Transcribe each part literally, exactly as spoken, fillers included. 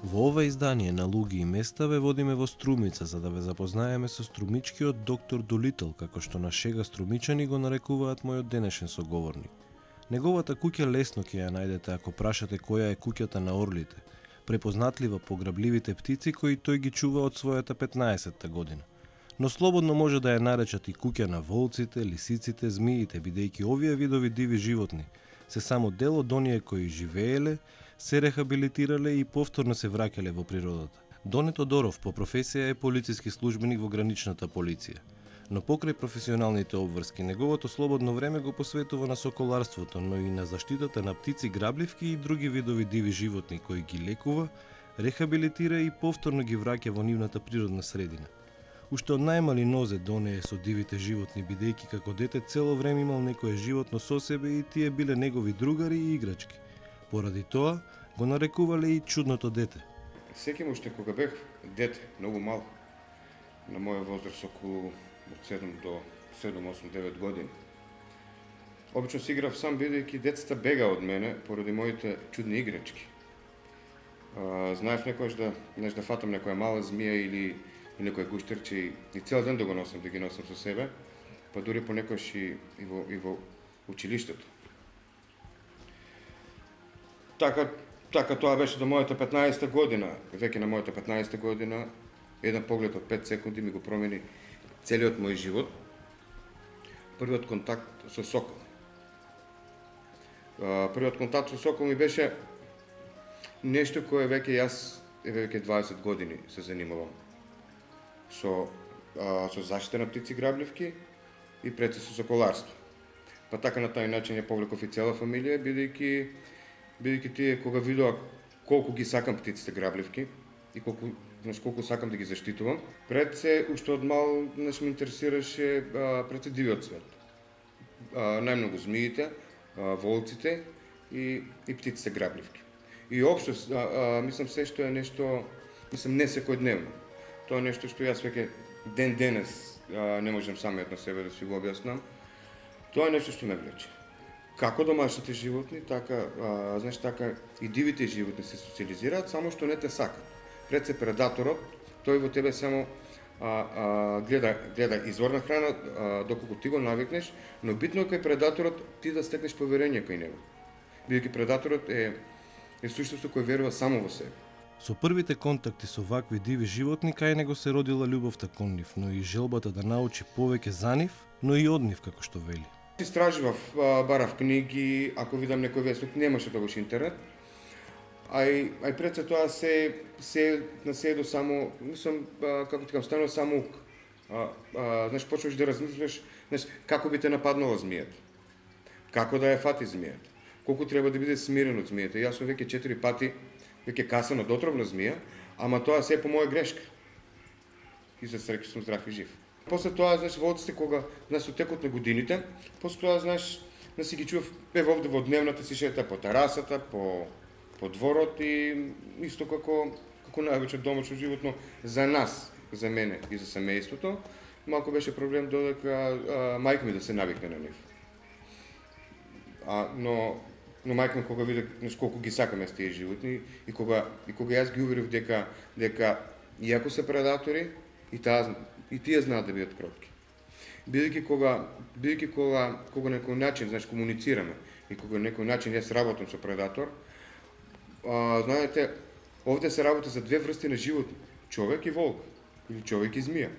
Во ова издание на Луги и места ве водиме во Струмица за да ве запознаеме со струмичкиот доктор Долител, како што на шега струмичани го нарекуваат мојот денешен соговорник. Неговата куќа лесно ќе ја најдете ако прашате која е куќата на орлите, препознатлива по грабливите птици кои тој ги чува од својата петнаесетта година. Но слободно може да ја наречат и куќа на волците, лисиците, змиите, бидејќи овие видови диви животни се само дел од оние кои живееле, се рехабилитирале и повторно се враќале во природата. Доне Тодоров по професија е полициски службеник во граничната полиција, но покрај професионалните обврски, неговото слободно време го посветува на соколарството, но и на заштитата на птици, грабливки и други видови диви животни кои ги лекува, рехабилитира и повторно ги враќа во нивната природна средина. Уште од најмали нозе Доне е со дивите животни, бидејќи како дете цело време имал некое животно со себе и тие биле негови другари и играчки. Поради тоа го нарекувале и чудното дете. Сеќавам уште кога бев дете, многу мал, на моја возраст околу од седум до седум, осум, девет години. Обично си играв сам, бидејќи децата бега од мене поради моите чудни играчки. А, знаев некојаш да, неш да фатам некоја мала змија или, или некој гуштерче и, и цел ден да го носам, да ги носам со себе, па дури понекојаш и, и, во, и во училиштето. Така, така тоа беше до мојата петнаесетта година. Веќе на мојата петнаесетта година, еден поглед од пет секунди ми го промени целиот мој живот. Првиот контакт со сокол. Првиот контакт со сокол ми беше нешто кое веќе јас веќе дваесет години се занимавам. Со, а, со заштита на птици грабливки и пред се со соколарство. Па така на тај начин ја повлеков и цела фамилија, бидејќи бидејќи тие кога видоа колку ги сакам птиците грабливки и колку, знаеш, колку сакам да ги заштитувам, пред се уште од мал, знаеш, ме интересираше а, пред се дивиот свет. А, најмногу змиите, а, волците и, и птиците грабливки. И општо, а, а, мислам се што е нешто, мислам не секојдневно. Тоа е нешто што јас веќе ден денес а, не можам самиот на себе да си го објаснам. Тоа е нешто што ме влече. Како домашните животни, така, а, знаеш, така и дивите животни се социализираат, само што не те сакат. Пред се предаторот, тој во тебе само а, а, гледа, гледа изворна храна, а, доколку ти го навикнеш, но битно е кај предаторот ти да стекнеш поверење кај него. Бидејќи предаторот е, е суштество кој верува само во себе. Со првите контакти со вакви диви животни кај него се родила љубовта кон нив, но и желбата да научи повеќе за нив, но и од нив, како што вели. Истражував, барав книги, ако видам некој вестник, немаше тогаш интернет. Ај, ај пред се тоа се, се наседо само, мислам, како ти кажам, станува само ук. А, а, знаеш, почваш да размислуваш, знаеш, како би те нападнала змијата. Како да ја фати змијата. Колку треба да биде смирен од змијата. Јас сум веќе четири пати, веќе касан од отровна змија, ама тоа се е по моја грешка. И за среќа сум здрав и жив. После тоа, знаеш, волците кога, знаеш, со текот на годините, после тоа, знаеш, да си ги чував, еве овде во дневната си шета по терасата, по, по дворот и исто како, како највеќе домашно животно за нас, за мене и за семејството. Малку беше проблем додека а, мајка ми да се навикне на нив. А, но, но мајка ми кога виде, знаеш, колку ги сакаме тие животни и кога, и кога јас ги уверив дека, дека иако се предатори, и таа и тие знаат да бидат кротки. Бидејќи кога бидејќи кога кога на некој начин, знаеш, комуницираме и кога на некој начин јас работам со предатор, а, знаете, овде се работи за две врсти на животни, човек и волк или човек и змија.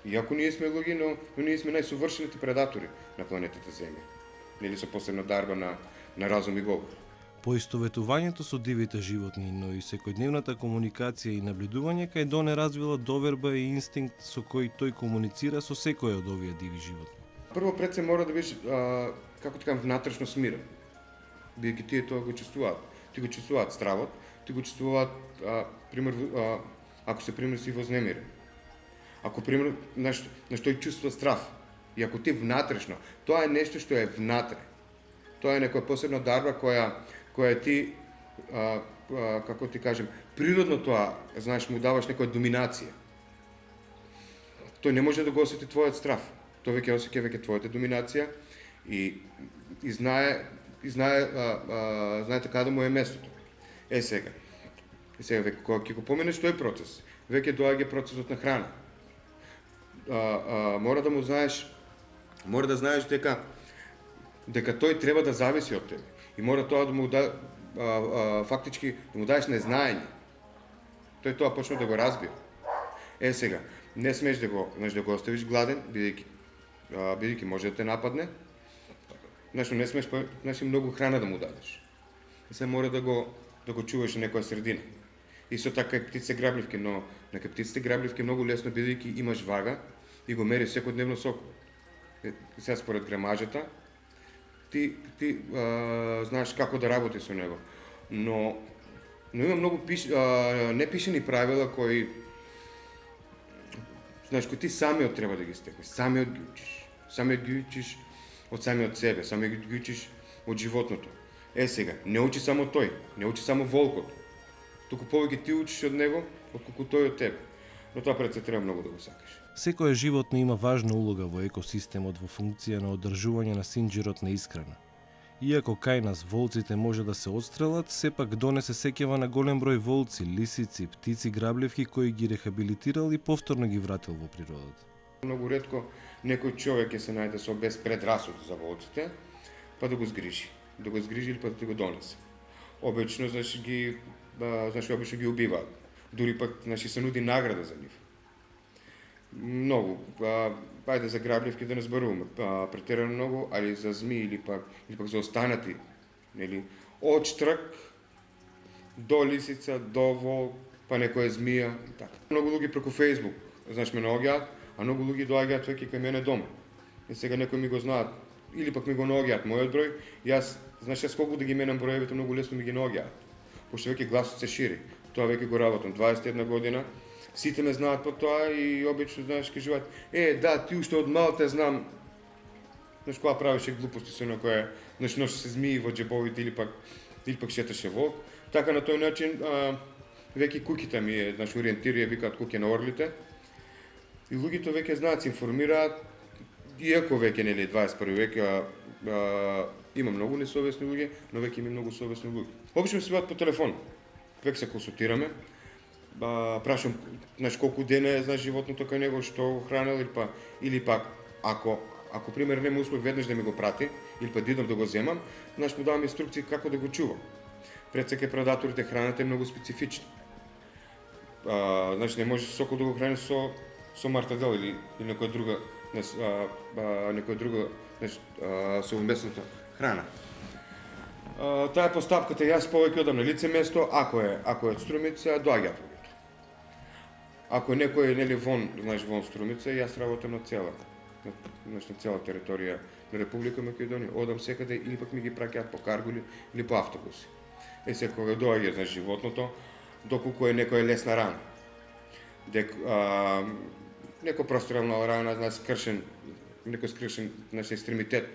Иако ние сме луѓе, но, но ние сме најсовршените предатори на планетата Земја. Нели со посебна дарба на на разум и говор. Поистоветувањето со дивите животни, но и секојдневната комуникација и наблюдување кај Доне развила доверба и инстинкт со кој тој комуницира со секој од овие диви животни. Прво пред се мора да бидеш, а, како така, внатрешно смирен. Бидејќи тие тоа го чувствуваат. Ти го чувствуваат стравот, ти го чувствуваат, а, пример, а, ако се пример си вознемирен. Ако пример нешто, нешто и чувствува страв, и ако ти внатрешно, тоа е нешто што е внатре. Тоа е некоја посебна дарба која која ти, а, а, како ти кажем, природно тоа, знаеш, му даваш некоја доминација. Тој не може да го осети твојот страв. Тој веќе осеќа веќе твојата доминација и, и знае, и знае, а, а, знае така да му е местото. Е сега, е сега веќе кога ќе го поминеш тој процес, веќе доаѓа процесот на храна. А, а, мора да му знаеш, мора да знаеш дека дека тој треба да зависи од тебе и мора тоа да му да а, а, фактички да му даеш незнаење. Тој тоа почна да го разбира. Е сега, не смеш да го, знаеш, да го оставиш гладен, бидејќи бидејќи може да те нападне. Значи не смеш, значи многу храна да му дадеш. И се мора да го да го чуваш на некоја средина. Исто така и птице грабливки, но на птиците грабливки многу лесно бидејќи имаш вага и го мериш секојдневно сок. Сега според грамажата ти ти а, знаеш како да работи со него. Но но има многу пиш, а, непишени правила кои знаеш кои ти самиот треба да ги стекнеш, самиот ги учиш. Самиот ги учиш од самиот себе, самиот ги учиш од животното. Е сега, не учи само тој, не учи само волкот. Туку повеќе ти учиш од него, отколку тој од тебе. Но тоа пред се треба многу да го сакаш. Секое животно има важна улога во екосистемот во функција на одржување на синџирот на исхрана. Иако кај нас волците може да се отстрелат, сепак донесе сеќава на голем број волци, лисици, птици грабливки кои ги рехабилитирал и повторно ги вратил во природата. Многу ретко некој човек ќе се најде со без предрасуд за волците, па да го згрижи, да го згрижи или па да го донесе. Обично значи ги значи обично ги убиваат. Дури пак значи се нуди награда за нив. Многу, па ајде за грабливки да не зборуваме, па претерано многу, али за змии или пак или пак за останати, нели, од штрк до лисица, до волк, па некоја змија и така. Многу луѓе преку Facebook, знаеш, ме наоѓаат, а многу луѓе доаѓаат веќе кај мене дома. И сега некои ми го знаат, или пак ми го наоѓаат мојот број, јас, знаеш, јас колку да ги менам броевите, многу лесно ми ги наоѓаат. Пошто веќе гласот се шири. Тоа веќе го работам дваесет и една година. Сите ме знаат по тоа и обично знаеш кажуваат: "Е, да, ти уште од мал те знам." Знаеш кога правеше глупости со некоја, знаеш, носи се змии во џебовите или пак или пак шеташе волк. Така на тој начин а, веќе куќите ми е, знаеш, ориентирија, викаат куќе на орлите. И луѓето веќе знаат, се информираат, иако веќе нели дваесет и први век а, а, има многу несовесни луѓе, но веќе има многу совесни луѓе. Обично се бат по телефон. Веќе се консултираме. Ба, прашам, знаеш, колку дена е, знаеш, животното кај него, што го хранел, или, па, или пак, ако, ако пример нема услов веднаш да ми го прати, или па дидам да го земам, знаеш, му давам инструкции како да го чувам. Пред се кај предаторите храната е многу специфична. А, знаеш, не можеш сокол да го храниш со, со мартадел или, или некоја друга, знаеш, а, а, некоја друга, знаеш, совместната храна. А, таа е постапката, јас повеќе одам на лице место, ако е, ако е од струмица, доаѓаат. Ако е некој нели вон, знаеш, вон струмица, јас работам на цела, на, на цела територија на Република Македонија, одам секаде или пак ми ги праќаат по карго или, или по автобуси. Е се кога доаѓа, знаеш, животното, доколку е некоја лесна рана. Дек а, некој прострелна рана, знаеш, скршен, некој скршен, знаеш, екстремитет,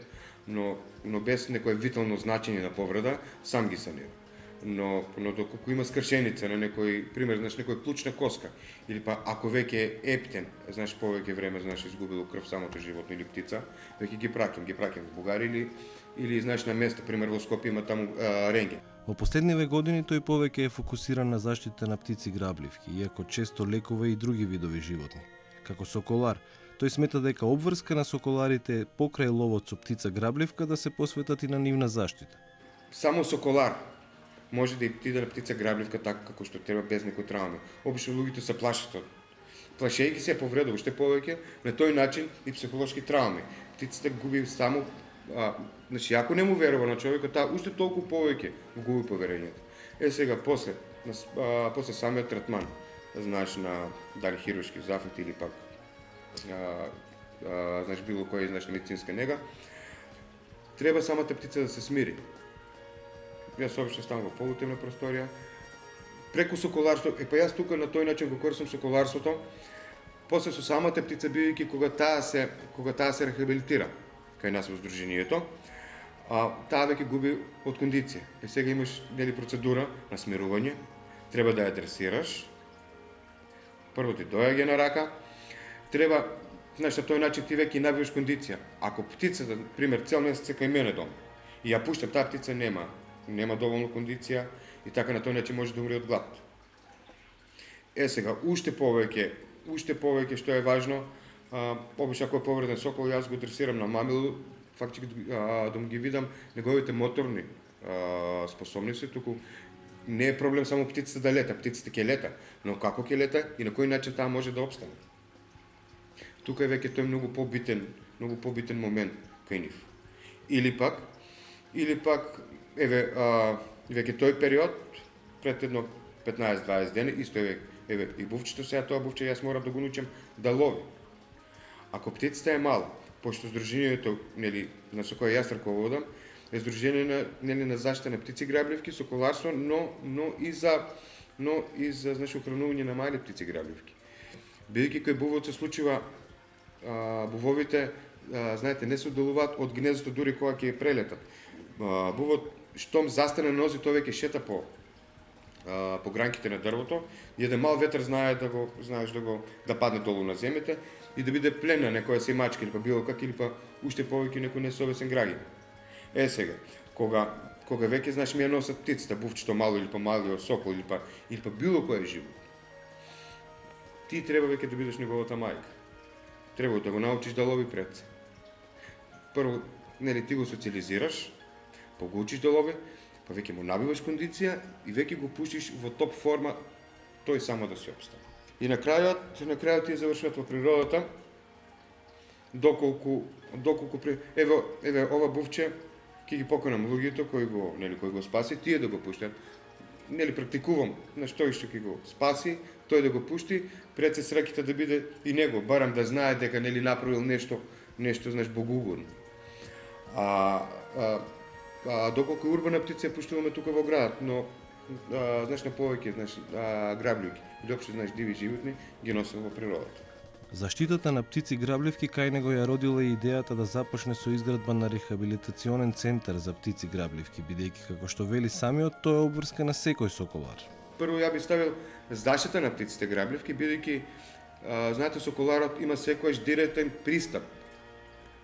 но но без некое витално значење на повреда, сам ги санирам. Но, но доколку има скршеница на некој, пример, знаеш, некој клучна коска, или па ако веќе е ептен, знаеш, повеќе време, знаеш, изгубило крв самото животно или птица, веќе ги праќам, ги праќам во Бугарија или, или, знаеш, на место, пример, во Скопје има таму а, рентген. Во последниве години тој повеќе е фокусиран на заштита на птици грабливки, иако често лекува и други видови животни. Како соколар, тој смета дека обврска на соколарите покрај ловот со птица грабливка да се посветат и на нивна заштита. Само соколар може да и птида на птица грабливка така како што треба без некои трауми. Обично луѓето се плашат од плашејќи се повредува уште повеќе, на тој начин и психолошки трауми. Птицата губи само а, значи ако не му верува на човекот, таа уште толку повеќе го губи поверењето. Е сега после на, а, после самиот третман, знаеш, на дали хируршки зафет или пак а, а, знаеш било која знаеш медицинска нега, треба самата птица да се смири. Јас обично ставам во полутемна просторија, преку соколарство, е па јас тука на тој начин го користам соколарството, после со самата птица бидејќи кога таа се кога таа се рехабилитира кај нас во здруженијето, а таа веќе губи од кондиција. И сега имаш нели процедура на смирување, треба да ја дресираш. Прво ти доаѓа на рака, треба, знаеш, на тој начин ти веќе набиваш кондиција. Ако птицата, пример, цел месец е кај мене дома и ја пуштам, таа птица нема, нема доволно кондиција и така на тој начин може да умре од глад. Е сега, уште повеќе, уште повеќе што е важно, а, обично ако е повреден сокол, јас го тресирам на мамилу, фактички да му ги видам неговите моторни а, способности, туку не е проблем само птицата да лета, птицата ќе лета, но како ќе лета и на кој начин таа може да обстане. Тука е веќе тој многу побитен, многу побитен момент кај нив. Или пак, или пак, еве, а, веќе тој период, пред едно петнаесет-дваесет дена, исто е, еве, и бувчето сега, тоа бувче јас морам да го научам да лови. Ако птицата е мала, пошто здружението, нели, на со кое јас раководам, е здружение на, нели, на заштита на птици грабливки, соколарство, но, но и за, но и за, значи, ухранување на мали птици грабливки. Бидејќи кај бувот се случува, а, бувовите, а, знаете, не се одделуваат од гнездото дури кога ќе прелетат. А, бувот, штом застане на нози, тој веќе шета по а, по гранките на дрвото, и еден мал ветер знае да го, знаеш да го да падне долу на земјата и да биде плен на некоја семачка или па било как, или па уште повеќе некој несовесен граѓанин. Е сега, кога кога веќе знаеш ми ја носат птицата, бувчето мало или па малиот сокол или па или па било кој живот, ти треба веќе да бидеш неговата мајка. Треба да го научиш да лови пред се. Прво, нели, ти го социализираш, па го учиш да лови, па веќе му набиваш кондиција и веќе го пуштиш во топ форма тој само да се обстане. И на крајот, на крајот ти завршуват во природата, доколку доколку при... еве еве ова бувче ќе ги поканам луѓето кои го, нели, кои го спаси, тие да го пуштат. Нели, практикувам на што и што ќе го спаси, тој да го пушти, пред се среќите да биде и него, барам да знае дека, нели, направил нешто, нешто, знаеш, богоугодно. А, а, а доколку урбана птица ја пуштуваме тука во градот, но а, знаеш, на повеќе, знаеш, грабливки, или општо, знаеш, диви животни ги носим во природата. Заштитата на птици грабливки кај него ја родила и идејата да започне со изградба на рехабилитационен центар за птици грабливки, бидејќи како што вели самиот, тоа е обврска на секој соколар. Прво ја би ставил заштита на птиците грабливки, бидејќи знаете, соколарот има секојаш директен пристап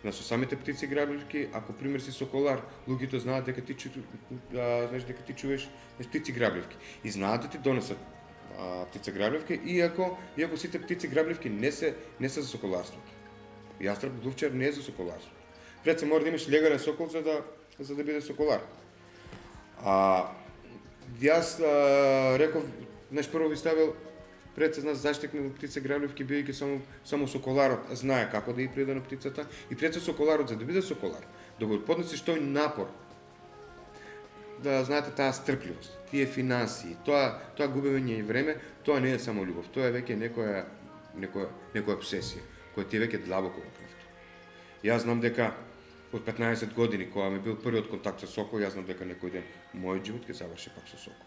на со самите птици грабливки. Ако пример си соколар, луѓето знаат дека ти чу, а, знаеш дека ти чуваш птици грабливки и знаат да ти донесат птица грабливки, иако иако сите птици грабливки не се не се за соколарството. Јастреб дувчар не е за соколарство. Пред се мора да имаш легален сокол за да за да биде соколар. А јас а, реков, знаеш, прво ви ставил пред се нас заштит на птица грабливки, бидејќи само само соколарот знае како да ја пријде на птицата и пред се соколарот за да биде соколар, да го поднесеш тој напор, да знаете таа стрпливост, тие финансии, тоа тоа губење време, тоа не е само љубов, тоа е веќе некоја некоја некоја обсесија која ти е веќе длабоко во крвта. Јас знам дека од петнаесет години кога ми бил првиот контакт со сокол, јас знам дека некој ден мојот живот ќе заврши пак со сокол.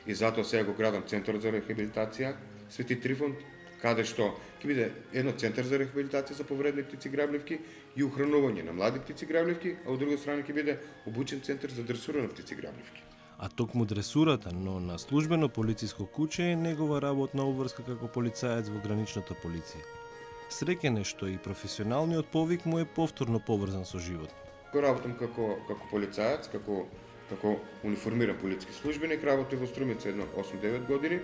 И затоа сега го градам центарот за рехабилитација Свети Трифон, каде што ќе биде едно центар за рехабилитација за повредни птици грабливки и ухранување на млади птици грабливки, а од друга страна ќе биде обучен центар за дресура на птици грабливки. А токму дресурата, но на службено полициско куче е негова работна обврска како полицаец во граничната полиција. Среќен е што и професионалниот повик му е повторно поврзан со живот. Го работам како како полицаец, како како униформиран полициски службеник, работи во Струмица едно осум-девет години.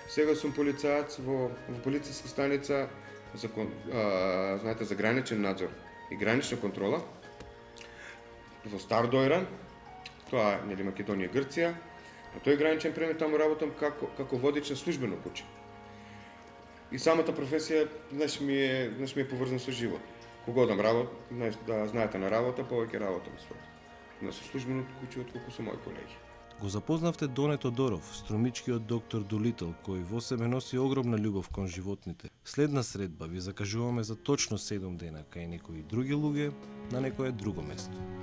Сега сум полицаец во во полициска станица за а, знаете, за граничен надзор и гранична контрола во Стар Дојран, тоа е, нели, Македонија, Грција. На тој граничен премин таму работам како како водич на службено куче. И самата професија, знаеш, ми е, знаеш, ми е поврзана со живот. Кога одам работа, знаеш, да знаете на работа, повеќе работам со на со службено куче отколку со мои колеги. Го запознавте Доне Тодоров, струмичкиот доктор Долител, кој во себе носи огромна љубов кон животните. Следна средба ви закажуваме за точно седум дена кај некои други луѓе на некое друго место.